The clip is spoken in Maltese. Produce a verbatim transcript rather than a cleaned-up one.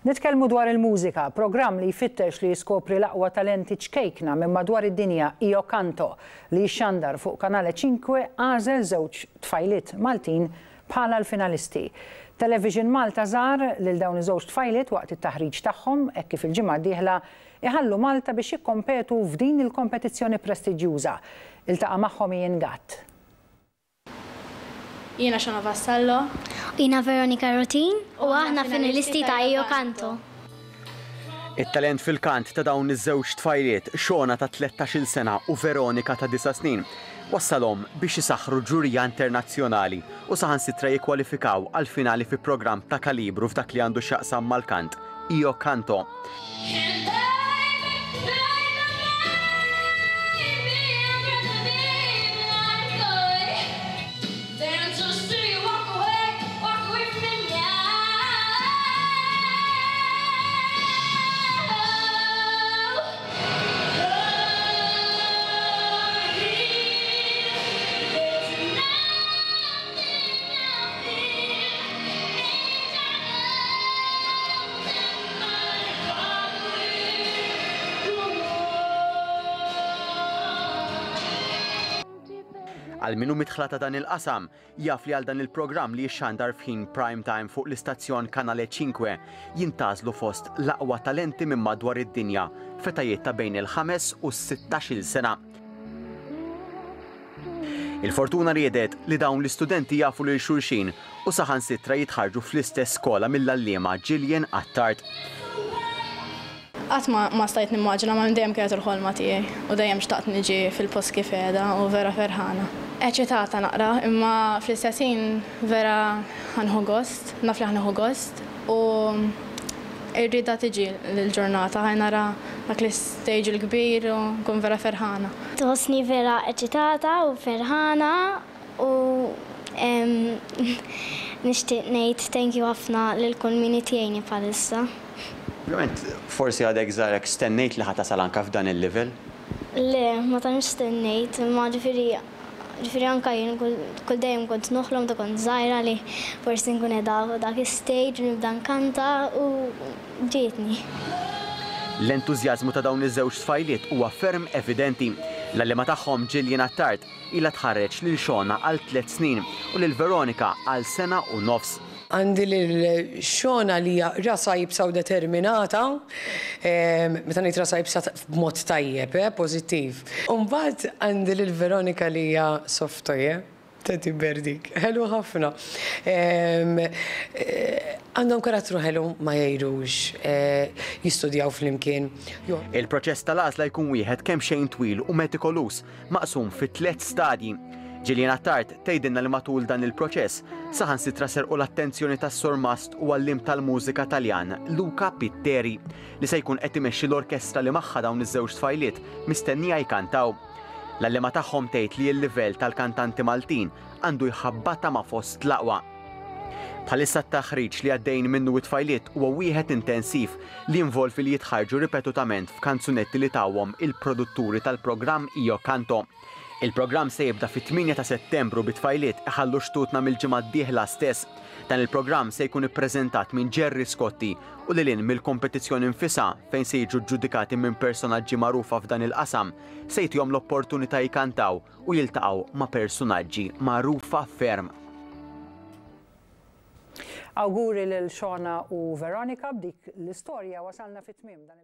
Nitkellmu dwar il-mużika, programm li jfittex li jiskopri l-aqwa talenti ċkejkna minn madwar id-dinja, Io Canto, li jixxandar fuq Kanale ċinque, għażel żewġ tfajliet Maltin bħala l-finalisti. Television Malta żar lil dawn iż-żewġ tfajliet waqt it-taħriġ tagħhom hekk kif il-ġimgħa d-dieħla iħallu Malta biex jikkompetu f'din il-kompetizzjoni prestiġjuża. Iltaqa' magħhom Ian Gatt. Jiena Shona Vassallo. Jiena Veronika Rotin u aħna finalisti ta' Io Canto. It-talent fil-kant ta' dawn iż-żewġ tfajliet, Shona ta' tlettax-il sena u Veronika ta' disa' snin, wassalhom biex isaħħru ġurija internazzjonali u saħansitra jikkwalifikaw għal finali fi programm ta' kalibru f'dak li għandu x'jaqsam mal-kant, Io Canto. Għal min hu midħla ta' dan il-qasam, jaf li għal dan il-programm li jixxandar f'ħin prime time fuq l-istazzjon Kanale ċinque jintgħażlu fost l-aqwa talenti minn madwar id-dinja f'etajiet ta' bejn il-ħames u s-sittax-il sena. Il-fortuna riedet li dawn l-istudenti jafu lil xulxin u saħansitra jitħarġu fl-istess skola mill-għalliema Gillian Attard. Qatt ma, ma stajt nimmaġina, ma dejjem kienet il-ħolma tiegħi u dejjem xtaqt niġi fil-post kif qiegħda u vera ferħana. Eċitata naqra, imma fl-istess ħin vera ħa nieħu gost, naf li ħa nieħu gost u rridha tiġi l-ġurnata, ħa nara dak l-stage il-kbir u nkun vera ferħana. Tħossni vera eċitata u ferħana u nixtieq ngħid thank you ħafna lil kull min jgħinni bħalissa. Ovvjament, forsi għadek żgħarek, stennejt li ħa tasal anka f'dan il-level? Le, ma tantx stennejt, imma ġifieri, ġifieri anka jien kull, kull dejjem kont noħlom ta' kont żgħira li forsi nkun qiegħda fuq dak is-stage u nibda nkanta u ġietni. L-entużjażmu ta' dawn iż-żewġ tfajliet huwa ferm evidenti. L-għalliema tagħhom Gillian Attard ilha tħarreġ lil Shona għal tliet snin u lil Veronika għal sena u nofs. Għandi lil Shona li hija rasa iebsa u determinata, ehm, meta ngħid rasa iebsa b'mod tajjeb, eh, pożittiv. U mbagħad għandi lil Veronika li hija softoje, teddy bear dik, ħelu ħafna. Ehm, eh, għandhom karattru ħelu, ma jgħidux, eh, jistudjaw flimkien. Il-proċess tal-għażla jkun wieħed kemm xejn twil u metikolus, maqsum fi tliet stadji. Gillian Attard tgħidilna li matul dan il-proċess saħansitra serqu l-attenzjoni tas-surmast u għalliem tal-mużika Taljan Luca Pitteri li se jkun qed imexxi l-orkestra li magħha dawn iż-żewġ tfajliet mistennija jkantaw. L-għalliema tagħhom tgħid li l-livell tal-kantanti Maltin għandu jħabbata ma' fost l-aqwa. Bħalissa t-taħriġ li għaddejn minnu it-tfajliet huwa wieħed intensiv li jinvolvi li jitħarġu ripetutament f'kanzunetti li tawhom il-produtturi tal-programm Io Canto. Il-programm se jibda fit-tmienja ta' Settembru bit-tfajliet iħallu xtutna mill-ġimgħa d-dieħla stess. Dan il-programm se jkun ippreżentat minn Gerry Scotti u lil hinn mill-kompetizzjoni nfisha fejn se jiġu ġġudikati minn personaġġi magħrufa f'dan il-qasam, se jtihom l-opportunità jkantaw u jiltaqgħu ma' personaġġi magħrufa ferm. Awguri lil Shona u Veronika. B'dik l-istorja wasalna fit-tmiem dan il-